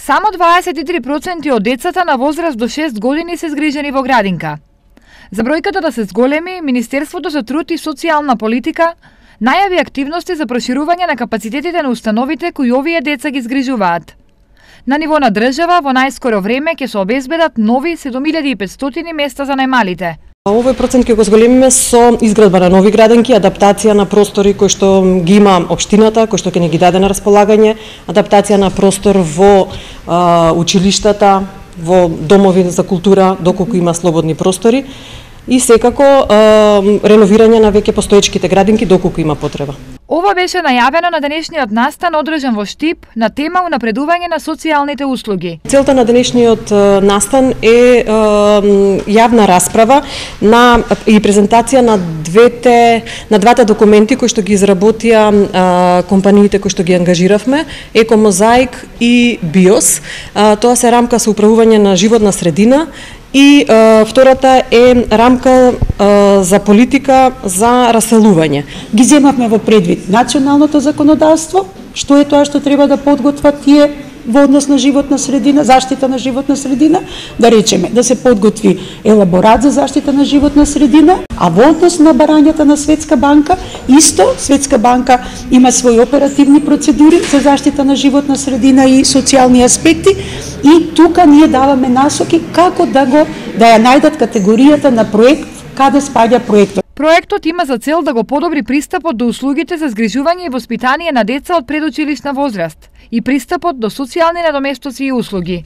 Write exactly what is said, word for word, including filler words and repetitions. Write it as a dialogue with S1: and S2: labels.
S1: Само дваесет и три проценти од децата на возраст до шест години се згрижени во градинка. За бројката да се зголеми, Министерството за труд и социјална политика најави активности за проширување на капацитетите на установите кои овие деца ги згрижуваат. На ниво на држава, во најскоро време ќе се обезбедат нови седум илјади и петстотини места за најмалите.
S2: Овој процент ќе го зголемиме со изградба на нови градинки, адаптација на простори кои што ги има општината, кои што ќе ни ги даде на располагање, адаптација на простор во а, училиштата, во домови за култура, доколку има слободни простори, и секако а, реновирање на веќе постоечките градинки доколку има потреба.
S1: Ова беше најавено на денешниот настан одржан во Штип на тема унапредување на социјалните услуги.
S2: Целта на денешниот настан е јавна расправа на и презентација на двете на двата документи кои што ги изработија компаниите кои што ги ангажиравме, Екомозаик и Биос. Тоа се рамка со управување на животна средина. И е, втората е рамка е, за политика за раселување.
S3: Ги земавме во предвид националното законодавство, што е тоа што треба да подготват тие во однос на животна средина, заштита на животна средина, да речеме, да се подготви елаборат за заштита на животна средина, а во однос на барањата на Светска банка, исто Светска банка има своји оперативни процедури за заштита на животна средина и социјални аспекти, и тука ние даваме насоки како да го да ја најдат категоријата на проект, каде спаѓа проектот.
S1: Проектот има за цел да го подобри пристапот до услугите за згрижување и воспитание на деца од предучилишна возраст и пристапот до социјални надоместоци и услуги.